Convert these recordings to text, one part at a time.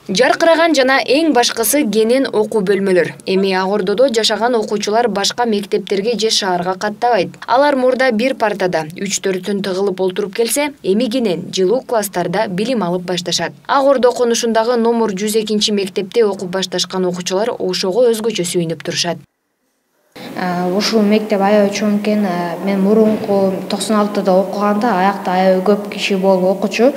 Жаркыраган жана эң башкысы кенен окуу бөлмөлөр. Эми Ак Ордодо жашаган окуучулар башка мектептерге же шаарга каттабайт. Алар мурда бир партада 3-4 тыгылып олтуруп келсе, эми кенен жылуу класстарда билим алып башташат. Ак Ордо конушундагы номер 102 мектепте окуп башташкан окуучулар ошого өзгөчө сүйүнүп турушат. Ушул мектеп аябай чоң экен. Мен мурунку 96-да окуганда аякта аябай көп киши болуп окучу.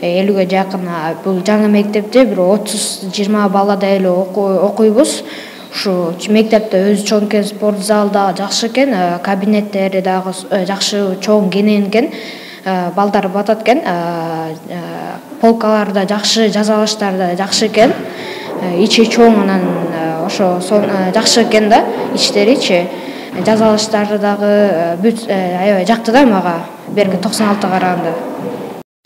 50-ге жакын. Бул жаңы мектепте бир 30-20 баладай эле окуйбуз. Ушу мектепте өзү чоң экен, спорт залы дагы жакшы экен, кабинеттери дагы жакшы чоң кенен экен. Балдар батат экен. Полкалар да жакшы, жазалыштар да жакшы экен. Ичи чоң, анан ошо жакшы экен да, ичтеричи. Жазалыштары дагы аябай жакты да мага, берки 96-га караганда.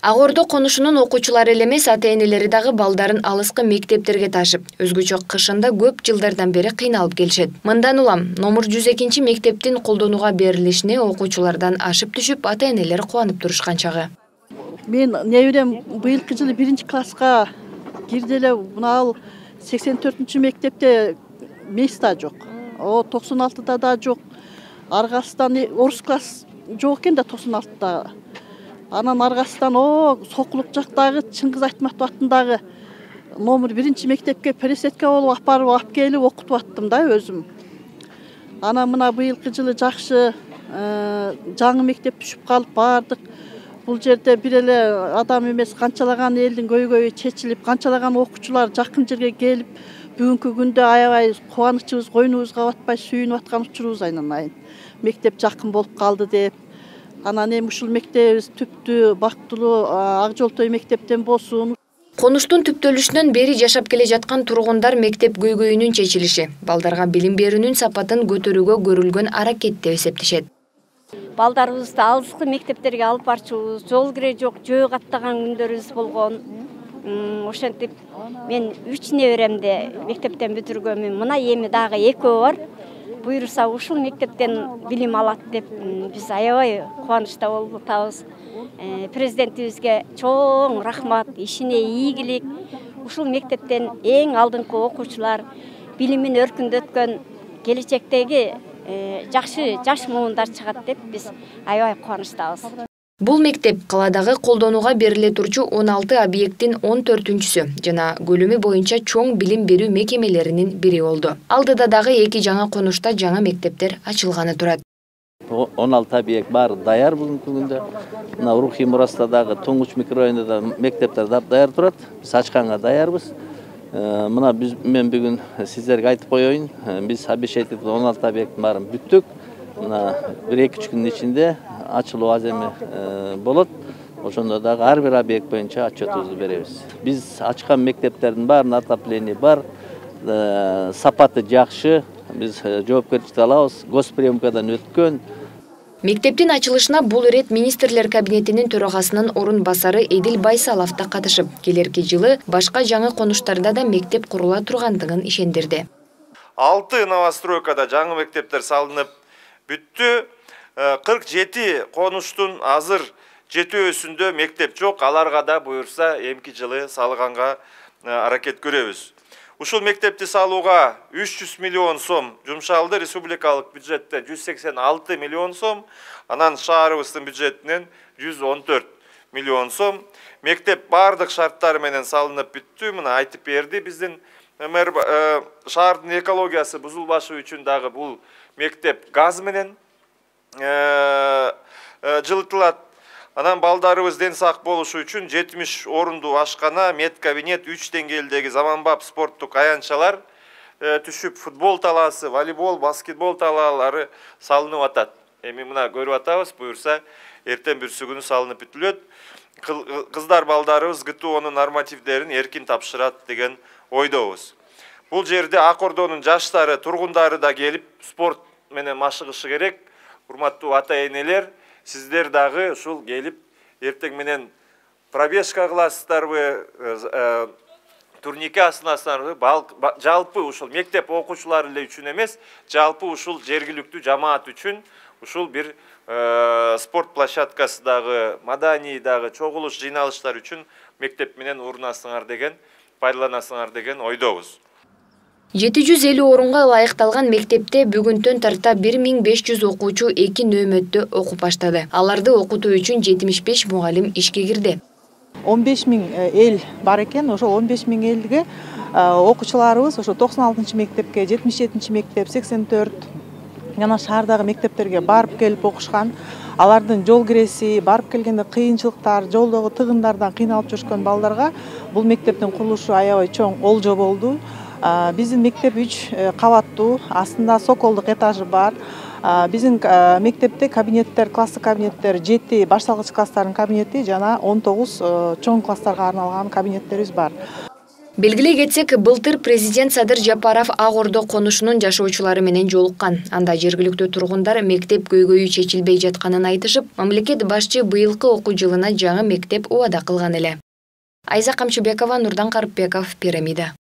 Ак Ордо конушунун окуучулары эле эмес, ата-энелери дагы балдарын алыскы мектептерге ташып, өзгөчө кышында көп жылдардан бери кыйналып келишет. Мындан улам номер 102 мектептин колдонууга берилишине окуучулардан ашып түшүп, ата-энелер кубанып турушкан чагы. Мен неберем быйылкы жылы 1-класска кирди эле, мына 84 мектепте места жок. 96-да да жок. Аргасынан орус класс жок экен да 96-да. Анан аргасынан Сокулук жактагы Чыңгыз Айтматов атындагы номер 1 мектепке пересетке болуп алып келип окутуп аттым да өзүм. Анан мына быйылкы жылы жакшы жаңы мектеп түшүп калып бардык. Бул жерде бир эле адам эмес, канчалаган элдин көйгөйү чечилип, канчалаган окуучулар жакын жерге келип, бүгүнкү күндө аябай кубанычыбыз койнубузга батпай сүйүнүп аткан учурубуз айнанайын. Мектеп жакын болуп калды деп. Анан эми ушул мектебибиз түптүү, бактылуу Ак Жолтой мектептен болсун. Конуштун түптөлүшүнөн бери жашап келе жаткан тургундар мектеп көйгөйүнүн чечилиши, балдарга билим берүүнүн сапатын көтөрүүгө көрүлгөн аракет деп эсептешет. Балдарыбызды алыскы мектептерге алып барчубуз, жол кире жок, жөө каттаган күндөрүбүз болгон. Ошентип мен 3 неберемди мектептен бүтүргөнмүн. Мына эми дагы 2 бар. Буйруса ушул мектептен билим алат деп биз аябай кубанычта болуп атабыз. Президентибизге чоң рахмат, ишине ийгилик. Ушул мектептен эң алдыңкы окуучулар билимин өркүндөткөн келечектеги жакшы жаш муундар чыгат деп биз аябай кубанычтабыз. Бул мектеп каладагы колдонууга бериле турчу 16 объекттин 14-сү жана көлөмү боюнча чоң билим берүү мекемелеринин бири болду. Алдыда дагы 2 жаңы конушта жаңы мектептер ачылганы турат. 16 объект бар даяр бүгүнкү күндө. Мына Рухий Мураста дагы Тоңуч микрорайонунда мектептер даяр турат. Биз ачканга даярбыз. Мына мен бүгүн сиздерге айтып коеюн. Биз обещать 16 объекттин баарын бүттүк. Мына 1-2 күндүн ичинде ачылуу аземи болот. Ошондо дагы ар бир объект боюнча отчетубузду беребиз. Биз ачкан мектептердин баарында отопление бар, сапаты жакшы. Биз жоопкерчиликти алабыз. Госприемкадан өткөн. Мектептин ачылышына бул ирет министрлер кабинетинин төрагасынын орун басары Эдил Байсалов да катышып, келерки жылы башка жаңы конуштарда да мектеп курула тургандыгын ишендирди. 6 новостройкада жаңы мектептер салынып бүттү. 47 конуштун азыр 7-өсүндө мектеп жок. Аларга да буюрса эмки жылы салганга аракет көрөбүз. Ушул мектепти салууга 300 миллион сом жумшалды. Республикалык бюджеттен 186 миллион сом, анан шаарыбыздын бюджетинен 114 миллион сом. Мектеп бардык шарттары менен салынып бүттү. Мына айтып берди биздин мэр. Шаардын экологиясы бузулбашы үчүн дагы бул мектеп газ менен жылытылат. Анан балдарыбыз ден сак болушу үчүн 70 орундуу ашкана, медкабинет, 3 деңгээлдеги заманбап спорттук аянтчалар түшүп, футбол талаасы, волейбол, баскетбол талаалары салынып атат. Эми мына көрүп атабыз, буюрса эртең бүрсү күнү салынып бүтүлөт. Кыздар балдарыбыз ГТОнун нормативдерин эркин тапшырат деген ойдобуз. Бул жерде Ак Ордонун жаштары, тургундары да келип спорт менен машыгышы керек. Урматтуу ата-энелер, сиздер дагы ушул келип эртең менен пробежка кыласыздарбы, турнике асынасыздарбы, жалпы ушул мектеп окуучулары эле үчүн эмес, жалпы ушул жергиликтүү жамаат үчүн ушул бир спорт площадкасы дагы, маданий дагы чогулуш жыйналыштар үчүн мектеп менен урунасыңар деген пайдаланасыңар деген ойдобуз. 750 орунга ылайыкталган мектепте бүгүнтөн тарта 1500 окуучу 2 нөөмөттө окуп баштады. Аларды окутуу үчүн 75 мугалим ишке кирди. 15 000 эл бар экен. Ошол 15 000 элге окуучуларыбыз ошо 96 мектепке, 77 мектеп, 84 жана шаардагы мектептерге барып келип окушкан. Алардын жол киреси, барып келгенде кыйынчылыктар, жолдогу тыгындардан кыйналып жүрүшкөн балдарга бул мектептин курулушу аябай чоң олжо болду. Биздин мектеп 3 кабаттуу, астында соколдук этажы бар. Биздин мектепте кабинеттер, класстык кабинеттер 7 башталгыч класстардын кабинети жана 19 чоң класстарга арналган кабинеттерибиз бар. Белгилей кетсек, былтыр президент Садыр Жапаров Ак Ордо конушунун жашоочулары менен жолуккан. Анда жергиликтүү тургундар мектеп көйгөйү чечилбей жатканын айтышып, мамлекет башчы быйылкы окуу жылына жаңы мектеп убада кылган эле. Айза Камчыбекова, Нурдан Карыпбеков, Пирамида.